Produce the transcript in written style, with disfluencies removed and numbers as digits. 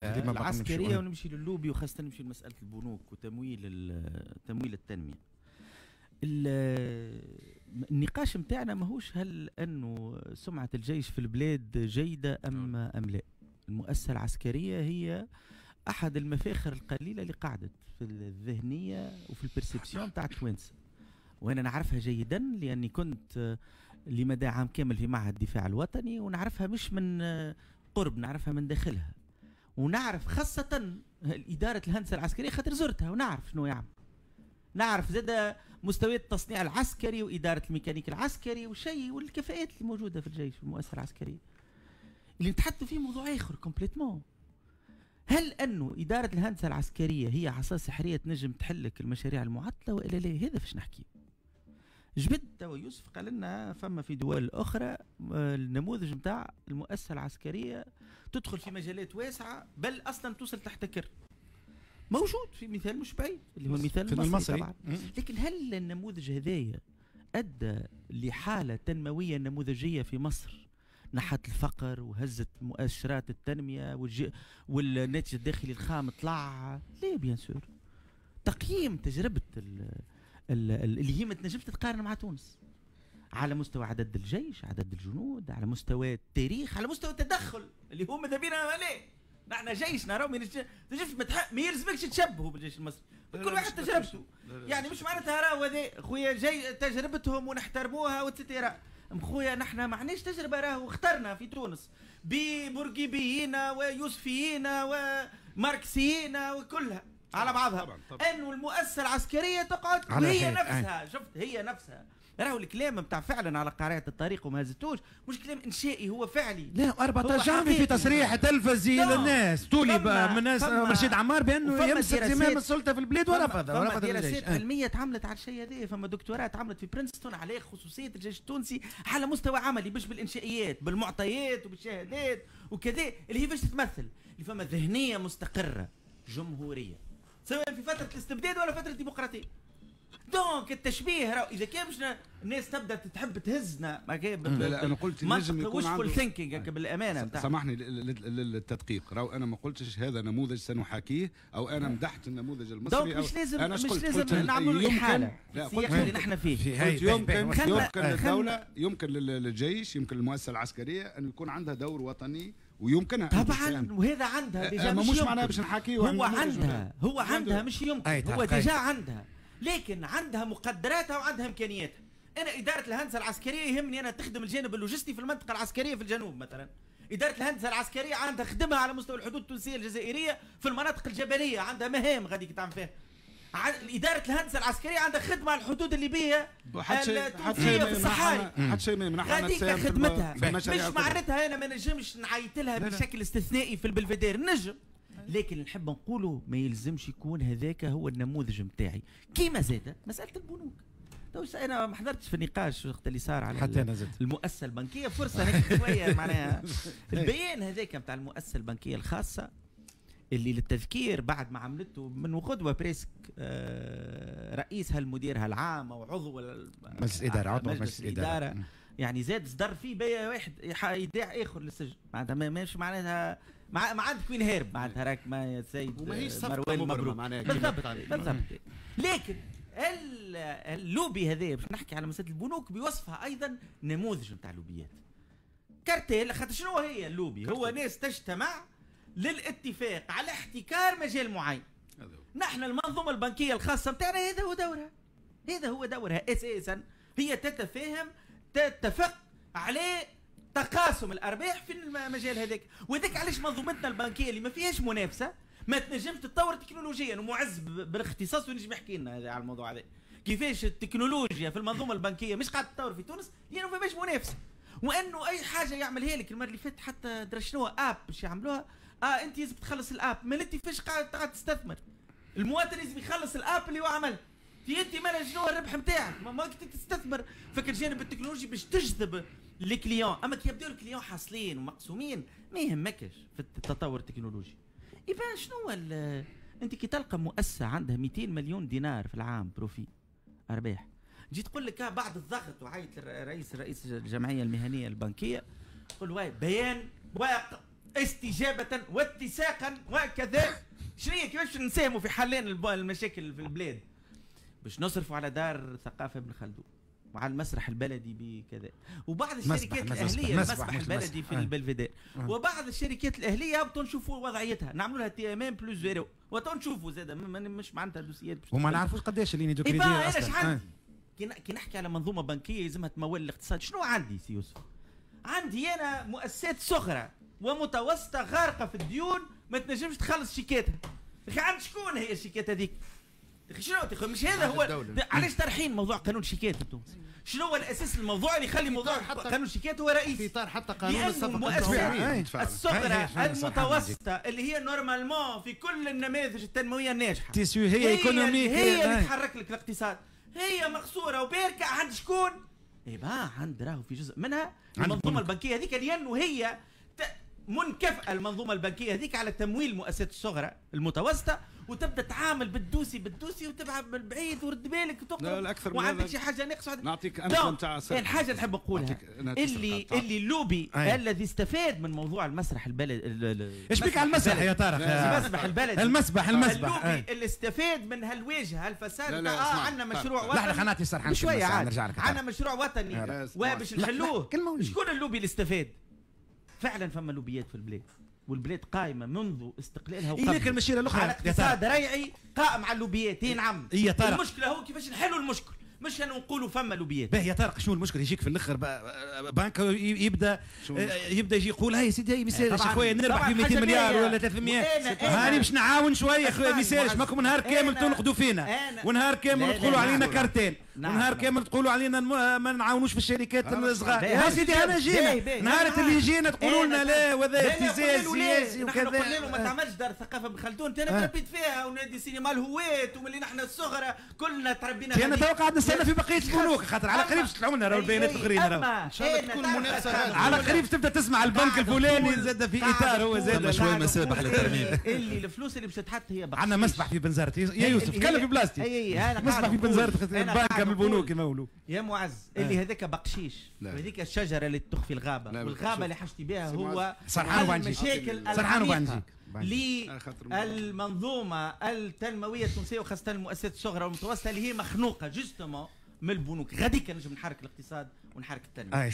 العسكرية ونمشي للوبي، وخاصة نمشي لمسالة البنوك وتمويل تمويل التنمية. النقاش نتاعنا ماهوش هل انه سمعه الجيش في البلاد جيدة ام لا. المؤسسة العسكرية هي احد المفاخر القليلة اللي قعدت في الذهنية وفي ال perception تاع التوانسة، وانا نعرفها جيدا لاني كنت لمدى عام كامل في معهد الدفاع الوطني، ونعرفها مش من قرب، نعرفها من داخلها، ونعرف خاصة إدارة الهندسة العسكرية خاطر زرتها ونعرف شنو يعمل. نعرف زاد مستويات التصنيع العسكري وإدارة الميكانيك العسكري وشيء والكفاءات اللي موجودة في الجيش في المؤسسة العسكرية. اللي نتحدثوا فيه موضوع آخر complètement. هل أنه إدارة الهندسة العسكرية هي عصا سحرية تنجم تحلك المشاريع المعطلة وإلا لا؟ هذا فاش نحكي. جبد توا يوسف قال لنا فما في دول أخرى النموذج نتاع المؤسسة العسكرية تدخل في مجالات واسعة، بل أصلا توصل تحتكر. موجود في مثال مش بعيد اللي هو المثال المصري طبعا. لكن هل النموذج هذايا أدى لحالة تنموية نموذجية في مصر نحت الفقر وهزت مؤشرات التنمية والناتج الداخلي الخام طلع؟ لا bien sûr. تقييم تجربة اللي هي ما تنجمش تتقارن مع تونس على مستوى عدد الجيش، عدد الجنود، على مستوى التاريخ، على مستوى التدخل اللي هو ماذا بينا ليه؟ نحن جيشنا راهو ما يلزمكش تشبهوا بالجيش المصري، كل واحد تجربته، يعني مش معناتها راهو هذا خويا جاي تجربتهم ونحترموها و et cetera. خويا نحن ما عندناش تجربه، راهو اخترنا في تونس ببورقيبيين ويوسفيين وماركسيين وكلها على بعضها. طبعا طبعا. انه المؤسسة العسكرية تقعد هي نفسها، شفت هي نفسها. راهو الكلام نتاع فعلا على قارعة الطريق وما هزتوش مش كلام انشائي، هو فعلي. لا 14 جانفي في تصريح تلفزي للناس طولب من الناس رشيد عمار بانه يمسك زمام السلطة في البلاد ورفض. فما دراسات علمية تعملت على الشيء هذا، فما دكتوراه تعملت في برينستون على خصوصية الجيش التونسي على مستوى عملي، مش بالانشائيات، بالمعطيات وبالشهادات وكذا، اللي هي باش تتمثل اللي فما ذهنية مستقره جمهورية سواء في فترة الاستبداد ولا فترة الديمقراطية. donc التشبيه راهو اذا كان مش الناس تبدا تحب تهزنا. لا انا قلت نجم يكون عنده thinking بالامانة. سامحني للتدقيق، راهو انا ما قلتش هذا نموذج سنحاكيه او انا مدحت النموذج المصري. donc مش لازم أنا مش لازم نعملوا احالة السياق اللي نحن فيه. يمكن للدولة، يمكن للجيش، يمكن للمؤسسه العسكرية ان يكون عندها دور وطني ويمكنها طبعا، وهذا عندها déjà. مش معناها باش نحاكيه، هو عندها، هو عندها مش يمكن، هو déjà عندها، لكن عندها مقدراتها وعندها امكانياتها. انا ادارة الهندسة العسكرية يهمني انا تخدم الجانب اللوجستي في المنطقة العسكرية في الجنوب مثلا. ادارة الهندسة العسكرية عندها خدمها على مستوى الحدود التونسية الجزائرية في المناطق الجبلية، عندها مهام غادي تعمل فيها. ادارة الهندسة العسكرية عندها خدمة على الحدود الليبية التونسية في الصحاري، حتى شيء ما يمنعها غاديك خدمتها. مش معناتها انا ما نجمش نعيط لها بشكل استثنائي في البلفدير، نجم، لكن نحب نقوله ما يلزمش يكون هذاك هو النموذج نتاعي. كيما زاد مسالة البنوك، انا ما حضرتش في النقاش وقت اللي صار على حتى أنا المؤسسة البنكية، فرصة نحكي شوية معناها البيان هذاك نتاع المؤسسة البنكية الخاصة اللي للتذكير بعد ما عملته من غدوه presque رئيسها المديرها العام او عضو مجلس الادارة، عضو مجلس الادارة يعني زاد صدر فيه بيع واحد ايداع اخر للسجن، معناتها مش معناتها ما عندك وين هارب، معناتها راك ما يا سيد مروان مبروك بالضبط بالضبط. لكن اللوبي هذا باش نحكي على مسالة البنوك بوصفها ايضا نموذج نتاع لوبيات كارتيل. خاطر شنو هي اللوبي؟ هو ناس تجتمع للاتفاق على احتكار مجال معين. نحن المنظومة البنكية الخاصة نتاعنا هذا هو دورها، هذا هو دورها اساسا، هي تتفاهم تتفق على تقاسم الارباح في المجال هذاك. وهذاك علاش منظومتنا البنكية اللي ما فيهاش منافسه ما تنجمش تتطور تكنولوجيا. ومعز بالاختصاص ونجم يحكي لنا هذا على الموضوع هذا، كيفاش التكنولوجيا في المنظومة البنكية مش قاعدة تتطور في تونس لانه ما فيهاش منافسه، وانه اي حاجة يعملها لك. المرة اللي فاتت حتى درا شنو app باش يعملوها، انت لازم تخلص ال app، ما انت فاش قاعد تستثمر؟ المواطن لازم يخلص ال app اللي هو عملها. انت مالا شنو الربح نتاعك؟ ما كنت تستثمر فك الجانب التكنولوجي باش تجذب les clients، اما كي يبداو ال clients حاصلين ومقسومين ما يهمكش في التطور التكنولوجي. يبان شنو انت كي تلقى مؤسسة عندها 200 مليون دينار في العام profit ارباح، جيت تقول لك بعد الضغط وعيط رئيس الجمعية المهنية البنكية، تقول واي بيان استجابة واتساقا وكذا. شنو كيفاش نساهموا في حلين المشاكل في البلاد؟ باش نصرفوا على دار ثقافة ابن خلدون وعلى المسرح البلدي بكذا، وبعض الشركات الاهلية، المسبح البلدي في البلفيدير، وبعض الشركات الاهلية هبطوا نشوفوا وضعيتها، نعملوا لها TMM plus zéro، وتنشوفوا زاد مش معناتها dossier ات وما نعرفوش قداش ال lignes de crédit اصلا. انا عندي كي نحكي على منظومة بنكيه يلزمها تمول الاقتصاد، شنو عندي سي يوسف؟ عندي انا مؤسسات صغرى ومتوسطه غارقة في الديون، ما تنجمش تخلص شيكاتها. عند شكون هي الشيكات هذيك؟ شنو مش هذا هو علاش طرحين موضوع قانون شيكات في تونس؟ شنو هو الاساس الموضوع اللي يخلي موضوع قانون شيكات هو رئيسي؟ في اطار حتى قانون الصفقة الصغرى المتوسطة اللي هي normalement في كل النماذج التنموية الناجحة tissu هي économique، هي اللي تحرك لك الاقتصاد، هي مقصورة وباركه عند شكون؟ إيه عند راهو في جزء منها المنظومة البنكية هذيك، لانه هي منكفئه المنظومة البنكية هذيك على تمويل المؤسسات الصغرى المتوسطة، وتبدا تعامل بال dossier بال dossier وتبعد من بعيد ورد بالك وتقرب وعندك شي حاجة ناقصه. نعطيك امثلة نتاع الحاجة اللي نحب نقولها اللي اللوبي الذي استفاد من موضوع المسرح البلد. ايش بيك على المسرح يا طارق؟ المسبح البلدي، المسبح اللوبي اللي استفاد من هالواجهه هالفساد. عندنا مشروع وطني. لا خلينا نعطي سرحان شوية، عاد عندنا مشروع وطني وباش نحلوه. شكون اللوبي اللي استفاد؟ فعلا فما لوبيات في البلاد، والبلاد قائمة منذ استقلالها وقبل. لكن المشيره الاخرى على اقتصاد ريعي قائم على اللوبيات. نعم. المشكلة هو كيفاش نحلوا المشكل، مش انه نقولوا فما لوبيات. باهي يا طارق، شنو المشكل؟ يجيك في الاخر بنك يبدا يجي يقول هاي سيدي ما يسالش خويا نربح في 200 مليار ولا 300، هاني باش نعاون شوية خويا ما يسالش، ماكم نهار كامل تنقدوا فينا، ونهار كامل تقولوا علينا كارتين، ونهار كامل تقولوا علينا ما نعاونوش في الشركات الصغار. يا سيدي انا جينا نهار اللي جينا تقولوا لنا لا وهذا ابتزاز سياسي وكذا. قلنا له ما تعملش دار ثقافة بن خلدون، انا تربيت فيها ونادي سينما الهواة، وملي نحن الصغرى كلنا تربينا. انا تو قاعد نستنى في بقية البنوك، خاطر على قريب تطلعوا لنا راهو البيانات الاخرين، راهو ان شاء الله تكون منافسه على قريب تبدا تسمع البنك الفلاني زاد في اطار هو زاد شوية مسابح للترميم. اللي الفلوس اللي باش تتحط هي عندنا مسبح في بنزرت يا يوسف، تكلم في بلاصتي. مسبح في بنزرت بنك من البنوك يمولوا يا معز. اللي هذاك بقشيش، وهذيك الشجرة اللي تخفي الغابة، والغابه اللي حشتي بها هو المشاكل سرحان للمنظومة التنموية التونسية، وخاصة المؤسسات الصغرى والمتوسطة اللي هي مخنوقه justement من البنوك. غاديك نجم نحرك الاقتصاد ونحرك التنمية.